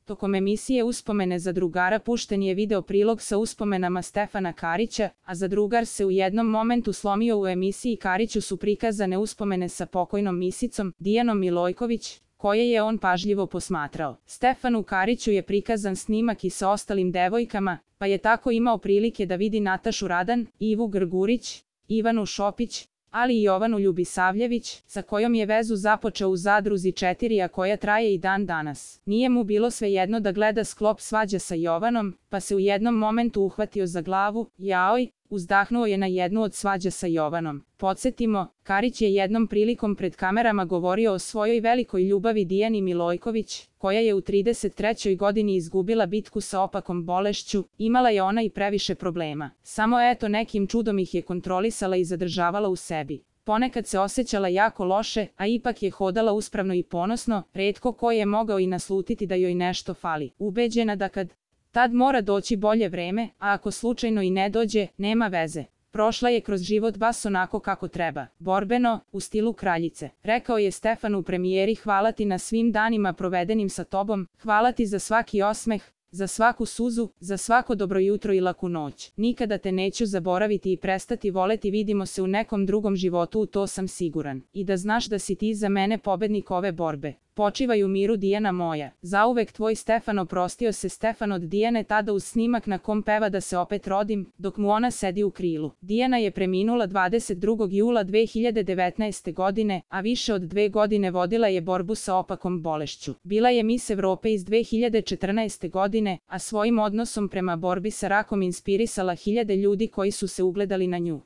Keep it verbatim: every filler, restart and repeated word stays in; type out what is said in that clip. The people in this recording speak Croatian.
Tokom emisije Uspomene za drugara pušten je video prilog sa uspomenama Stefana Karića, a za drugar se u jednom momentu slomio. U emisiji Kariću su prikazane uspomene sa pokojnom misicom, Dijanom Milojković, koje je on pažljivo posmatrao. Stefanu Kariću je prikazan snimak i sa ostalim devojkama, pa je tako imao prilike da vidi Natašu Radan, Ivu Grgurić, Ivanu Šopić, ali i Jovanu Ljubisavljević, sa kojom je vezu započeo u Zadruzi četiri, a koja traje i dan danas. Nije mu bilo svejedno da gleda sklop svađa sa Jovanom, pa se u jednom momentu uhvatio za glavu, jaoj, uzdahnuo je na jednu od svađa sa Jovanom. Podsjetimo, Karić je jednom prilikom pred kamerama govorio o svojoj velikoj ljubavi Dijani Milojković, koja je u trideset trećoj godini izgubila bitku sa opakom bolešću, imala je ona i previše problema. Samo eto nekim čudom ih je kontrolisala i zadržavala u sebi. Ponekad se osjećala jako loše, a ipak je hodala uspravno i ponosno, retko ko je mogao i naslutiti da joj nešto fali. Ubeđena da kad tad mora doći bolje vreme, a ako slučajno i ne dođe, nema veze. Prošla je kroz život baš onako kako treba, borbeno, u stilu kraljice. Rekao je Stefan u premijeri: hvala ti na svim danima provedenim sa tobom, hvala ti za svaki osmeh, za svaku suzu, za svako dobro jutro i laku noć. Nikada te neću zaboraviti i prestati voleti, vidimo se u nekom drugom životu, u to sam siguran. I da znaš da si ti za mene pobednik ove borbe. Počivaj u miru, Dijana moja. Zauvek tvoj Stefan. Oprostio se Stefan od Dijane tada uz snimak na kom peva Da se opet rodim, dok mu ona sedi u krilu. Dijana je preminula dvadeset drugog jula dve hiljade devetnaeste. godine, a više od dve godine vodila je borbu sa opakom bolešću. Bila je Mis Evrope iz dve hiljade četrnaeste. godine, a svojim odnosom prema borbi sa rakom inspirisala hiljade ljudi koji su se ugledali na nju.